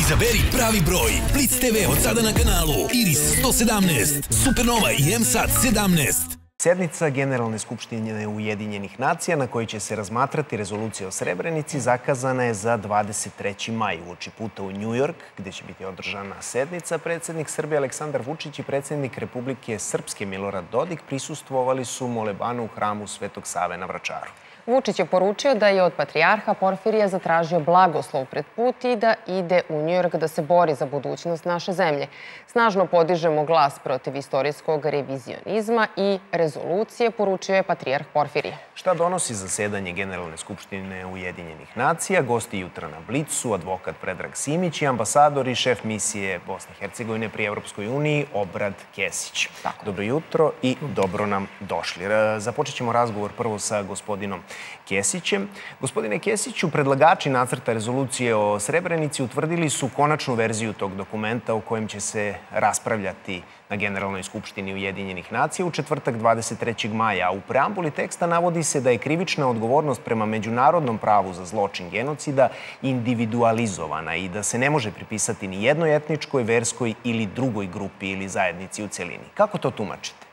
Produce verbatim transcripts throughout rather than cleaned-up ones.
Izaberi pravi broj. Blitz te ve od sada na kanalu Iris sto sedamnaest, Supernova i M SAT sedamnaest. Sednica Generalne skupštine Ujedinjenih nacija na kojoj će se razmatrati rezolucija o Srebrenici zakazana je za dvadeset treći maj uoči puta u Njujork, gde će biti održana sednica. Predsednik Srbije Aleksandar Vučić i predsednik Republike Srpske Milorad Dodik prisustvovali su molebanu u hramu Svetog Save na Vračaru. Vučić je poručio da je od patrijarha Porfirija zatražio blagoslov pred put i da ide u Njujork da se bori za budućnost naše zemlje. Snažno podižemo glas protiv istorijskog revizionizma i rezolucije, poručio je patrijarh Porfirije. Šta donosi zasedanje Generalne skupštine Ujedinjenih nacija? Gosti jutra na Blicu, advokat Predrag Simić i ambasador i šef misije Bosne i Hercegovine pri Evropskoj uniji Obrad Kesić. Dobro jutro i dobro nam došli. Započet ćemo razgovor prvo sa gospodinom Kesićem. Gospodine Kesiću, predlagači nacrta rezolucije o Srebrenici utvrdili su konačnu verziju tog dokumenta o kojem će se raspravljati na Generalnoj skupštini Ujedinjenih nacija u četvrtak dvadeset trećeg maja. U preambuli teksta navodi se da je krivična odgovornost prema međunarodnom pravu za zločin genocida individualizovana i da se ne može pripisati ni jednoj etničkoj, verskoj ili drugoj grupi ili zajednici u celini. Kako to tumačite?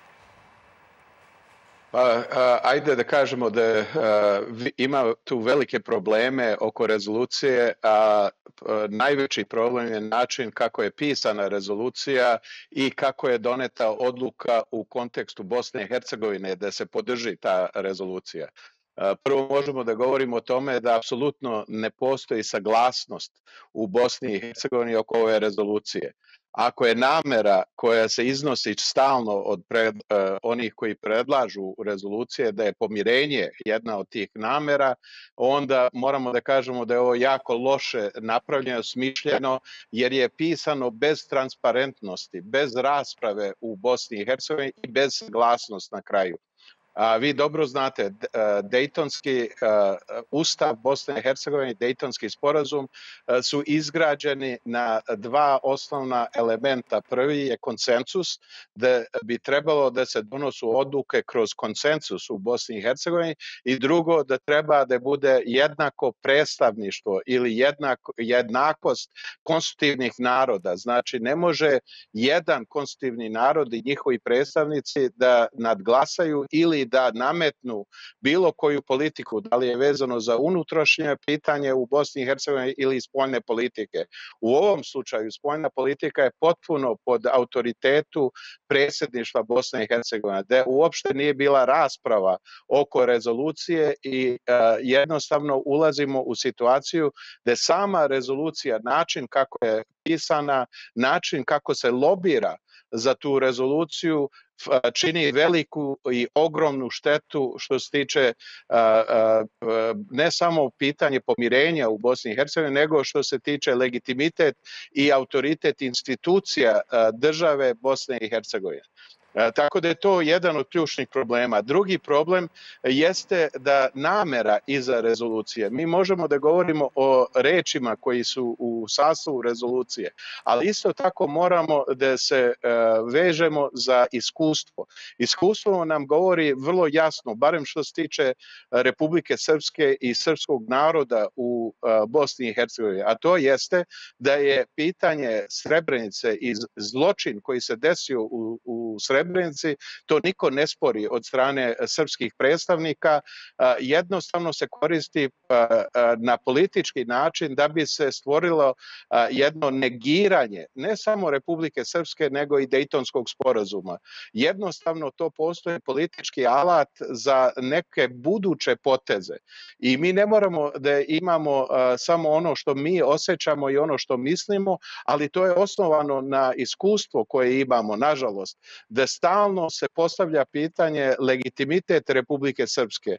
Pa, ajde da kažemo da ima tu velike probleme oko rezolucije, a najveći problem je način kako je pisana rezolucija i kako je doneta odluka u kontekstu Bosne i Hercegovine da se podrži ta rezolucija. Prvo možemo da govorimo o tome da apsolutno ne postoji saglasnost u Bosni i Hercegovini oko ove rezolucije. Ako je namera koja se iznosi stalno od pred, uh, onih koji predlažu rezolucije da je pomirenje jedna od tih namera, onda moramo da kažemo da je ovo jako loše napravljeno, smišljeno, jer je pisano bez transparentnosti, bez rasprave u Bosni i Hercegovini i bez saglasnosti na kraju. A vi dobro znate, Dejtonski ustav Bosne i Hercegovine i Dejtonski sporazum su izgrađeni na dva osnovna elementa. Prvi je konsensus, da bi trebalo da se donosu odluke kroz konsensus u Bosni i Hercegovini, i drugo da treba da bude jednako predstavništvo ili jednako, jednakost konstitutivnih naroda. Znači ne može jedan konstitutivni narod i njihovi predstavnici da nadglasaju ili da nametnu bilo koju politiku, da li je vezano za unutrašnje pitanje u Bosni i Hercegovini ili spoljne politike. U ovom slučaju spoljna politika je potpuno pod autoritetu predsjedništva Bosne i Hercegovine, da uopšte nije bila rasprava oko rezolucije i uh, jednostavno ulazimo u situaciju da sama rezolucija, način kako je pisana, način kako se lobira za tu rezoluciju čini veliku i ogromnu štetu što se tiče uh, uh, ne samo pitanje pomirenja u Bosni i Hercegovini, nego što se tiče legitimitet i autoritet institucija uh, države Bosne i Hercegovine. Tako da je to jedan od ključnih problema. Drugi problem jeste da namera iza rezolucije, mi možemo da govorimo o rečima koji su u sastavu rezolucije, ali isto tako moramo da se vežemo za iskustvo. Iskustvo nam govori vrlo jasno, barem što se tiče Republike Srpske i srpskog naroda u Bosni i Hercegovini, a to jeste da je pitanje Srebrenice i zločin koji se desio u, u Srebrenici, to niko ne spori od strane srpskih predstavnika, jednostavno se koristi na politički način da bi se stvorilo jedno negiranje ne samo Republike Srpske nego i Dejtonskog sporazuma. Jednostavno to postoji politički alat za neke buduće poteze i mi ne moramo da imamo samo ono što mi osjećamo i ono što mislimo, ali to je osnovano na iskustvo koje imamo, nažalost, da stalno se postavlja pitanje legitimitet Republike Srpske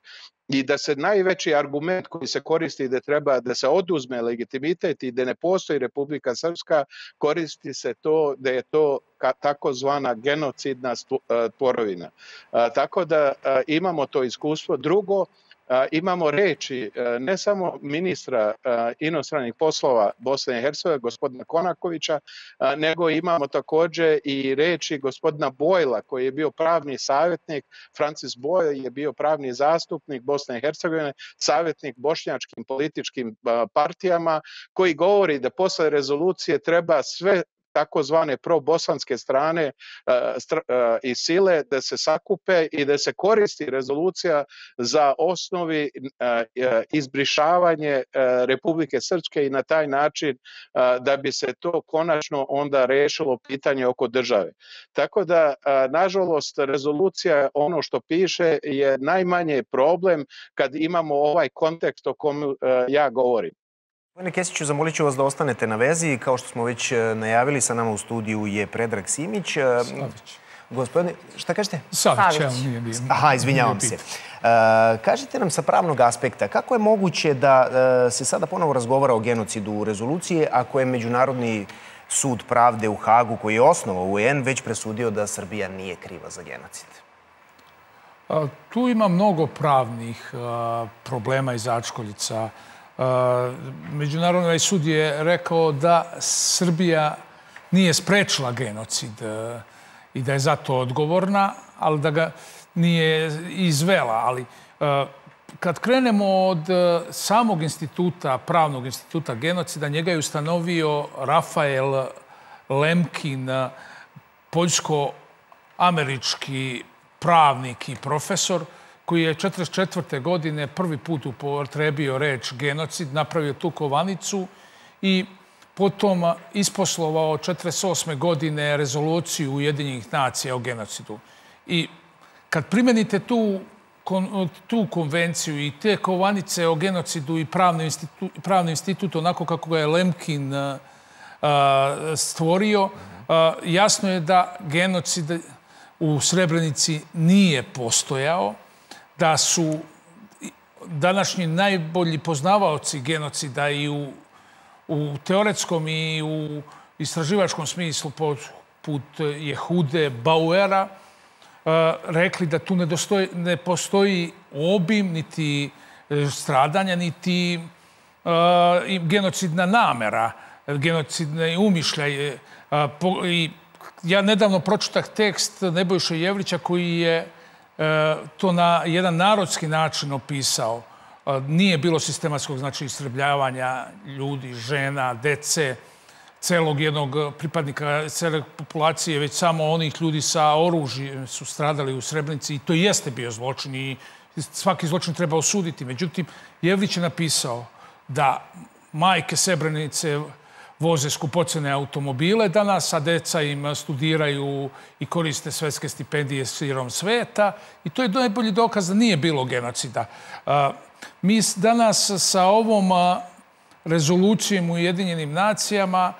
i da se najveći argument koji se koristi da treba da se oduzme legitimitet i da ne postoji Republika Srpska, koristi se to da je to takozvana genocidna tvorovina. Tako da imamo to iskustvo. Drugo, imamo reči ne samo ministra inostranih poslova Bosne i Hercegovine, gospodina Konakovića, nego imamo također i reči gospodina Bojla, koji je bio pravni savjetnik. Francis Boyle je bio pravni zastupnik Bosne i Hercegovine, savjetnik bošnjačkim političkim partijama, koji govori da posle rezolucije treba sve takozvane probosanske strane i sile da se sakupe i da se koristi rezolucija za osnovi izbrišavanje Republike Srpske i na taj način da bi se to konačno onda rešilo pitanje oko države. Tako da, nažalost, rezolucija, ono što piše, je najmanje problem kad imamo ovaj kontekst o komu ja govorim. Gospodine Kesiću, zamolit ću vas da ostanete na vezi. Kao što smo već najavili, sa nama u studiju je Predrag Simić. Savić. Gospodine, šta kažete? Savić, evo nije bilo. Aha, izvinjavam se. Kažite nam sa pravnog aspekta, kako je moguće da se sada ponovo razgovara o genocidu u rezolucije, ako je Međunarodni sud pravde u Hagu, koji je osnovao U N, već presudio da Srbija nije kriva za genocid? Tu ima mnogo pravnih problema i začkoljica. Međunarodni sud je rekao da Srbija nije sprečila genocid i da je zato odgovorna, ali da ga nije izvela. Ali kad krenemo od samog instituta, pravnog instituta genocida, njega je ustanovio Rafael Lemkin, poljsko-američki pravnik i profesor, koji je četrdeset četvrte godine prvi put upotrebio reč genocid, napravio tu kovanicu i potom isposlovao četrdeset osme godine rezoluciju Ujedinjenih nacija o genocidu. I kad primenite tu, tu konvenciju i te kovanice o genocidu i pravni institut, pravni institut onako kako ga je Lemkin uh, stvorio, uh, jasno je da genocid u Srebrenici nije postojao, da su današnji najbolji poznavaoci genocida i u, u teoretskom i u istraživačkom smislu poput Jehude Bauera rekli da tu ne, dostoji, ne postoji obim niti stradanja, niti uh, genocidna namera, genocidne umišljaje. I ja nedavno pročitah tekst Nebojše Jevrića koji je to na jedan narodski način opisao. Nije bilo sistematskog, znači, istrebljavanja ljudi, žena, dece, celog jednog pripadnika cele populacije, već samo onih ljudi sa oružjem su stradali u Srebrenici i to jeste bio zločin i svaki zločin treba osuditi. Međutim, Jevrić je napisao da majke Srebrenice voze skupocene automobile danas, a deca im studiraju i koriste svetske stipendije širom sveta. I to je najbolji dokaz da nije bilo genocida. Mi danas sa ovom rezolucijom u Ujedinjenim nacijama,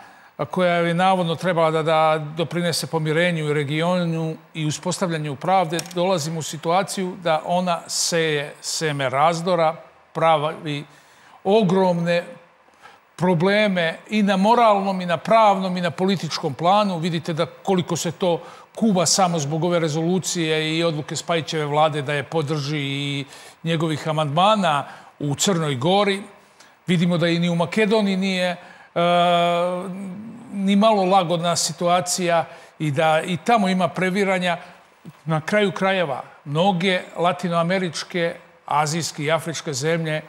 koja je navodno trebala da, da doprinese pomirenju u regionu i uspostavljanju pravde, dolazimo u situaciju da ona seje seme razdora, pravi ogromne probleme i na moralnom, i na pravnom, i na političkom planu. Vidite da koliko se to kuva samo zbog ove rezolucije i odluke Spajićeve vlade da je podrži i njegovih amandmana u Crnoj Gori. Vidimo da i ni u Makedoniji nije uh, ni malo lagodna situacija i da i tamo ima previranja. Na kraju krajeva, mnoge latinoameričke, azijske i afričke zemlje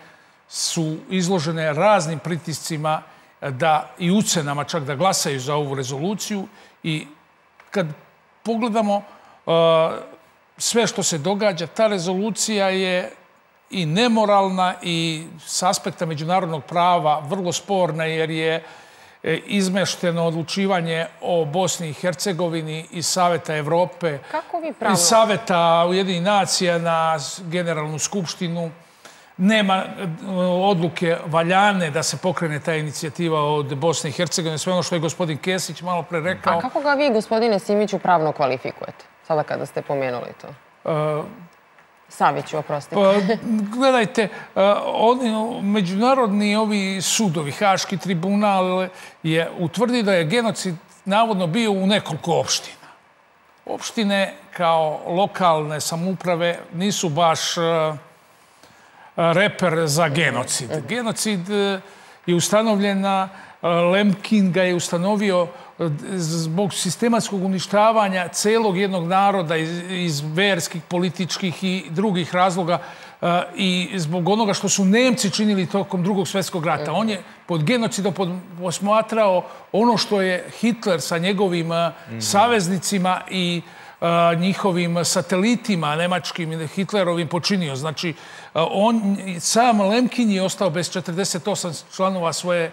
su izložene raznim pritiscima da, i ucenama čak da glasaju za ovu rezoluciju. I kad pogledamo uh, sve što se događa, ta rezolucija je i nemoralna i s aspekta međunarodnog prava vrlo sporna jer je izmešteno odlučivanje o Bosni i Hercegovini iz Saveta Evrope, iz Saveta Ujedinjenih nacija na Generalnu skupštinu. Nema odluke valjane da se pokrene ta inicijativa od Bosne i Hercegovine, sve ono što je gospodin Kesić malo pre rekao. A kako ga vi, gospodine Simiću, pravno kvalifikujete, sada kada ste pomenuli to? Uh, Saviću, oprostite. Pa, gledajte, oni, međunarodni ovi sudovi, Haški tribunal je utvrdio da je genocid navodno bio u nekoliko opština. Opštine kao lokalne samouprave nisu baš reper za genocid. Genocid je ustanovljen na Lemkin ga je ustanovio zbog sistematskog uništavanja celog jednog naroda iz verskih, političkih i drugih razloga i zbog onoga što su Nemci činili tokom Drugog svjetskog rata. On je pod genocidom posmatrao ono što je Hitler sa njegovim saveznicima i njihovim satelitima nemačkim Hitlerovim počinio. Znači, on, sam Lemkin je ostao bez četrdeset osam članova svoje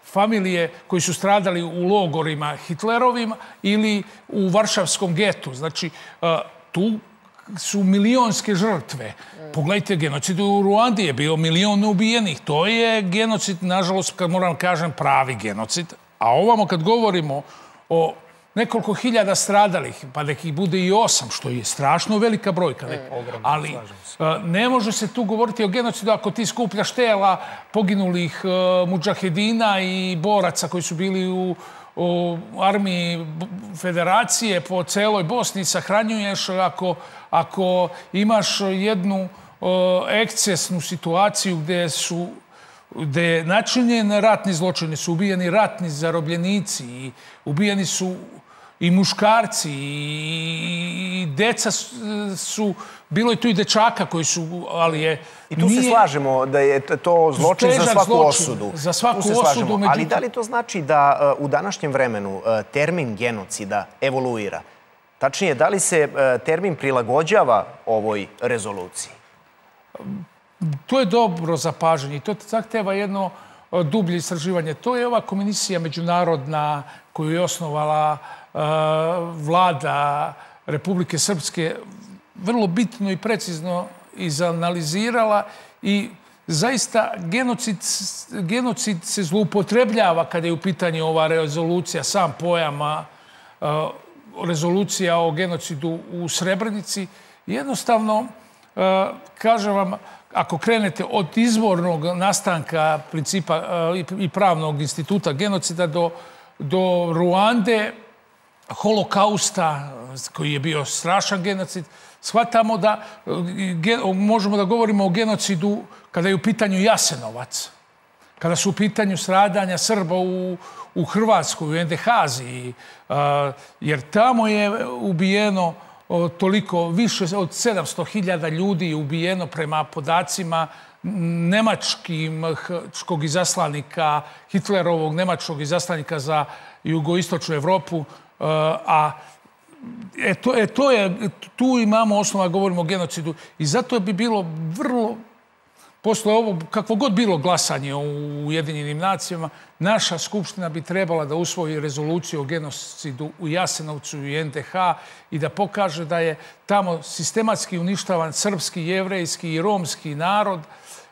familije koji su stradali u logorima Hitlerovim ili u Varšavskom getu. Znači, tu su milionske žrtve. Pogledajte, genocid u Ruandi je bio milion ubijenih. To je genocid, nažalost, kad moram kažem, pravi genocid. A ovamo kad govorimo o nekoliko hiljada stradalih, pa nekih bude i osam, što je strašno velika brojka. Ali ne može se tu govoriti o genocidu ako ti skupljaš tela poginulih mudžahedina i boraca koji su bili u u armiji federacije po celoj Bosni sahranjuješ ako, ako imaš jednu ekscesnu situaciju gde su gde je načinjen ratni zločini, su ubijeni ratni zarobljenici i ubijeni su i muškarci i deca su, bilo je tu i dečaka koji su, ali je... I tu se slažemo da je to zločin za svaku osudu. Za svaku osudu. Ali da li to znači da u današnjem vremenu termin genocida evoluira? Tačnije, da li se termin prilagođava ovoj rezoluciji? To je dobro zapažanje i to zahteva jedno dublje istraživanje. To je ova komisija međunarodna koju je osnovala vlada Republike Srpske vrlo bitno i precizno izanalizirala i zaista genocid, genocid se zloupotrebljava kada je u pitanju ova rezolucija, sam pojam rezolucija o genocidu u Srebrenici. Jednostavno, kažem vam, ako krenete od izvornog nastanka principa i pravnog instituta genocida do, do Ruande, holokausta, koji je bio strašan genocid, shvatamo da možemo da govorimo o genocidu kada je u pitanju Jasenovac, kada su u pitanju stradanja Srba u, u Hrvatskoj, u en de ha Aziji, jer tamo je ubijeno toliko, više od sedamsto hiljada ljudi je ubijeno prema podacima nemačkog izaslanika, Hitlerovog nemačkog izaslanika za jugoistočnu Evropu, a e, to, e, to je, tu imamo osnova, govorimo o genocidu i zato bi bilo vrlo, posle ovo, kakvo god bilo glasanje u Ujedinjenim nacijama, naša Skupština bi trebala da usvoji rezoluciju o genocidu u Jasenovcu i en de ha i da pokaže da je tamo sistematski uništavan srpski, jevrejski i romski narod,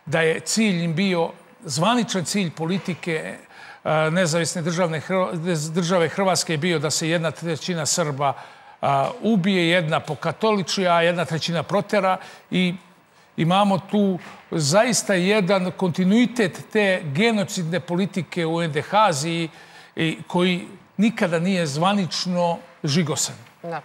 da je cilj im bio, zvaničan cilj politike nezavisne državne, države Hrvatske je bio da se jedna trećina Srba ubije, jedna pokatoliči, a jedna trećina protera i imamo tu zaista jedan kontinuitet te genocidne politike u en de ha Aziji koji nikada nije zvanično žigosan. Da.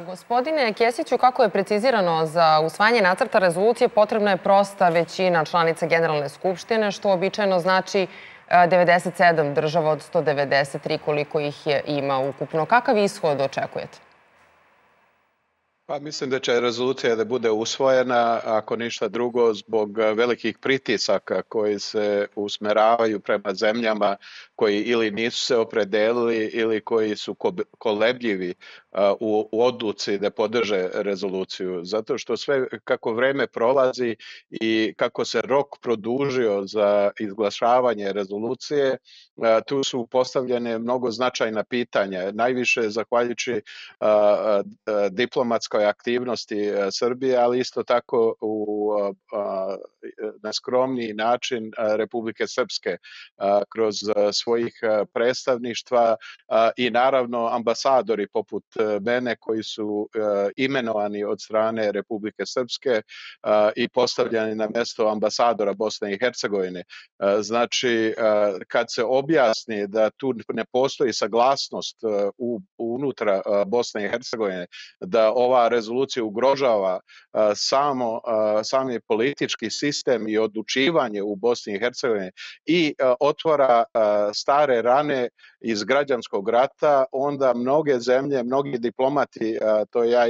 Gospodine Kesiću, kako je precizirano za usvajanje nacrta rezolucije, potrebna je prosta većina članica Generalne skupštine, što običajno znači devedeset sedam država od sto devedeset tri, koliko ih je ima ukupno. Kakav ishod očekujete? Pa mislim da će rezolucija da bude usvojena, ako ništa drugo, zbog velikih pritisaka koji se usmeravaju prema zemljama koji ili nisu se opredelili ili koji su kolebljivi u odluci da podrže rezoluciju. Zato što sve kako vreme prolazi i kako se rok produžio za izglašavanje rezolucije, tu su postavljene mnogo značajna pitanja. Najviše zahvaljujući diplomatskoj aktivnosti Srbije, ali isto tako u na skromniji način Republike Srpske kroz svojih predstavništva i naravno ambasadori poput mene koji su imenovani od strane Republike Srpske i postavljeni na mjesto ambasadora Bosne i Hercegovine. Znači, kad se objasni da tu ne postoji saglasnost unutra Bosne i Hercegovine, da ova rezolucija ugrožava samo, sami politički sistem i odlučivanje u Bosni i Hercegovini i otvara stare rane iz građanskog rata, onda mnoge zemlje, mnogi diplomati, to ja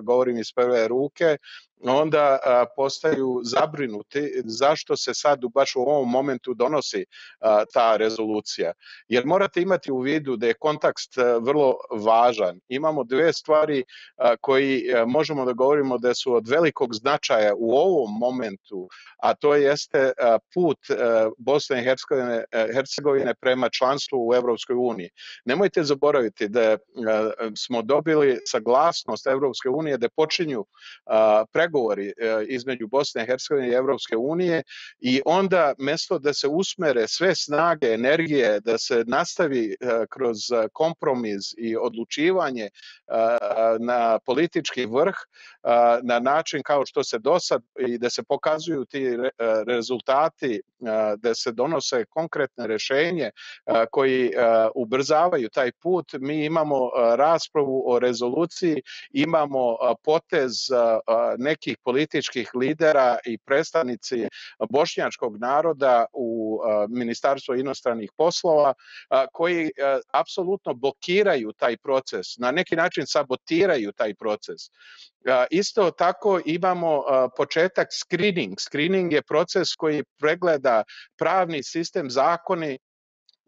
govorim iz prve ruke, onda a, postaju zabrinuti zašto se sad baš u ovom momentu donosi a, ta rezolucija. Jer morate imati u vidu da je kontekst a, vrlo važan. Imamo dve stvari a, koji a, možemo da govorimo da su od velikog značaja u ovom momentu, a to jeste a, put a, Bosne i Hercegovine, a, Hercegovine prema članstvu u Evropskoj uniji. Nemojte zaboraviti da a, smo dobili saglasnost Evropske unije da počinju a, pregovori između Bosne i Hercegovine i Evropske unije i onda mjesto da se usmere sve snage, energije, da se nastavi kroz kompromis i odlučivanje na politički vrh na način kao što se dosad i da se pokazuju ti rezultati, da se donose konkretne rješenje koji ubrzavaju taj put. Mi imamo raspravu o rezoluciji, imamo potez nekih političkih lidera i predstavnici bošnjačkog naroda u Ministarstvu inostranih poslova koji apsolutno blokiraju taj proces, na neki način sabotiraju taj proces. Isto tako imamo početak screening. Screening je proces koji pregleda pravni sistem, zakoni,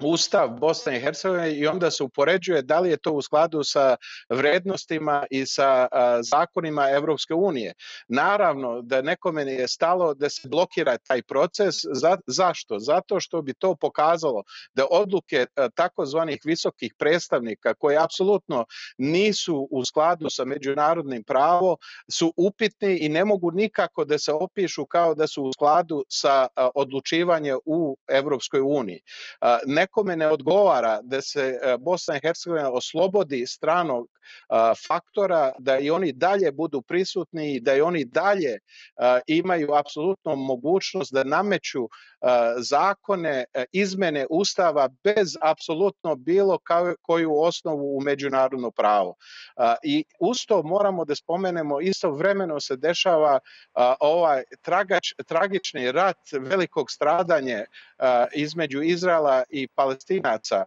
Ustav Bosne i Hercegovine i onda se upoređuje da li je to u skladu sa vrednostima i sa a, zakonima Evropske unije. Naravno da nekome je stalo da se blokira taj proces. Za, zašto? Zato što bi to pokazalo da odluke a, takozvanih visokih predstavnika koje apsolutno nisu u skladu sa međunarodnim pravom su upitni i ne mogu nikako da se opišu kao da su u skladu sa a, odlučivanje u Evropskoj uniji. A, Nekome ne odgovara da se Bosna i Hercegovina oslobodi stranog a, faktora, da i oni dalje budu prisutni i da i oni dalje a, imaju apsolutno mogućnost da nameću a, zakone, a, izmene ustava bez apsolutno bilo kao, koju osnovu u međunarodno pravo. A, I usto moramo da spomenemo, istovremeno se dešava a, ovaj tragač, tragični rat velikog stradanja a, između Izraela i Palestinaca.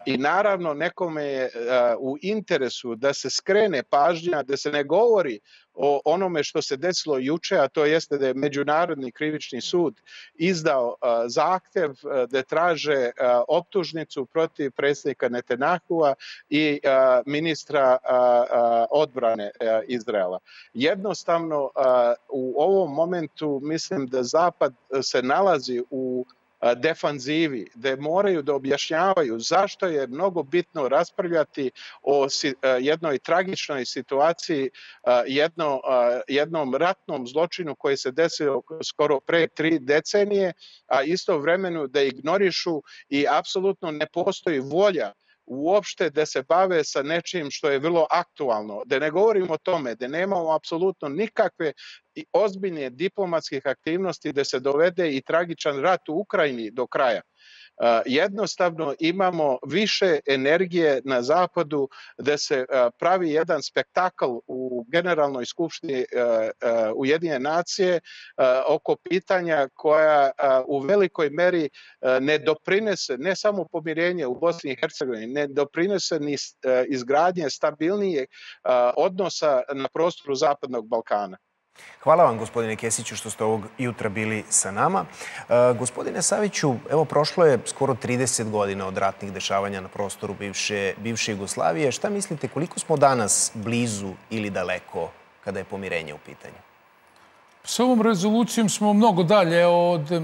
I naravno nekome je u interesu da se skrene pažnja, da se ne govori o onome što se desilo juče, a to jeste da je Međunarodni krivični sud izdao zahtev da traže optužnicu protiv predsjednika Netanjahua i ministra odbrane Izraela. Jednostavno u ovom momentu mislim da Zapad se nalazi u defanzivi, da moraju da objašnjavaju zašto je mnogo bitno raspravljati o jednoj tragičnoj situaciji, jedno, jednom ratnom zločinu koji se desio skoro pre tri decenije, a istovremeno da ignorišu i apsolutno ne postoji volja uopšte da se bave sa nečim što je vrlo aktualno. Da ne govorimo o tome, da nemamo apsolutno nikakve ozbiljne diplomatskih aktivnosti da se dovede i tragičan rat u Ukrajini do kraja. Jednostavno imamo više energije na zapadu da se pravi jedan spektakl u Generalnoj skupštini Ujedinjene nacije oko pitanja koja u velikoj meri ne doprinese ne samo pomirenje u Bosni i Hercegovini, ne doprinese ni izgradnje stabilnijeg odnosa na prostoru Zapadnog Balkana. Hvala vam, gospodine Kesiću, što ste ovog jutra bili sa nama. E, gospodine Saviću, evo, prošlo je skoro trideset godina od ratnih dešavanja na prostoru bivše, bivše Jugoslavije. Šta mislite, koliko smo danas blizu ili daleko kada je pomirenje u pitanju? S ovom rezolucijom smo mnogo dalje od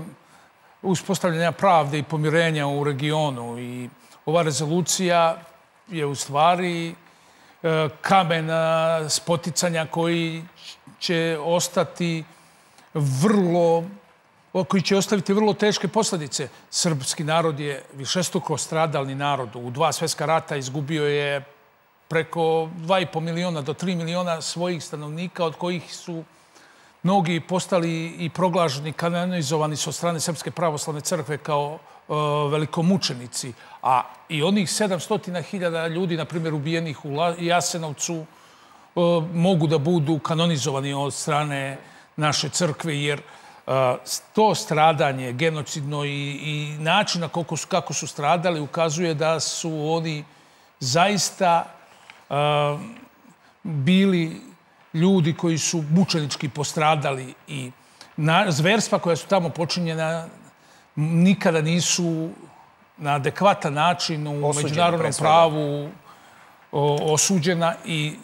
uspostavljanja pravde i pomirenja u regionu. I ova rezolucija je u stvari kamen spoticanja koji će ostati vrlo, koji će ostaviti vrlo teške posljedice. Srpski narod je višestruko stradalni narod. U dva svjetska rata izgubio je preko dva i po miliona do tri miliona svojih stanovnika, od kojih su mnogi postali i proglašeni, kanonizovani su od strane Srpske pravoslavne crkve kao velikomučenici. A i onih sedamsto hiljada ljudi, na primjer, ubijenih u Jasenovcu, mogu da budu kanonizovani od strane naše crkve, jer to stradanje genocidno i načina kako su stradali ukazuje da su oni zaista bili ljudi koji su mučenički postradali i zverstva koja su tamo počinjena nikada nisu na adekvatan način u međunarodnom pravu osuđena i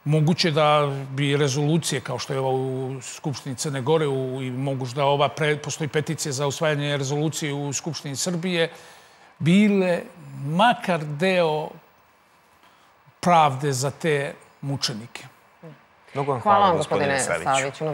moguće da bi rezolucije, kao što je ova u Skupštini Crne Gore i moguće da ova postoji peticija za usvajanje rezolucije u Skupštini Srbije, bile makar deo pravde za te mučenike. Mnogo vam hvala, gospodine Saviću.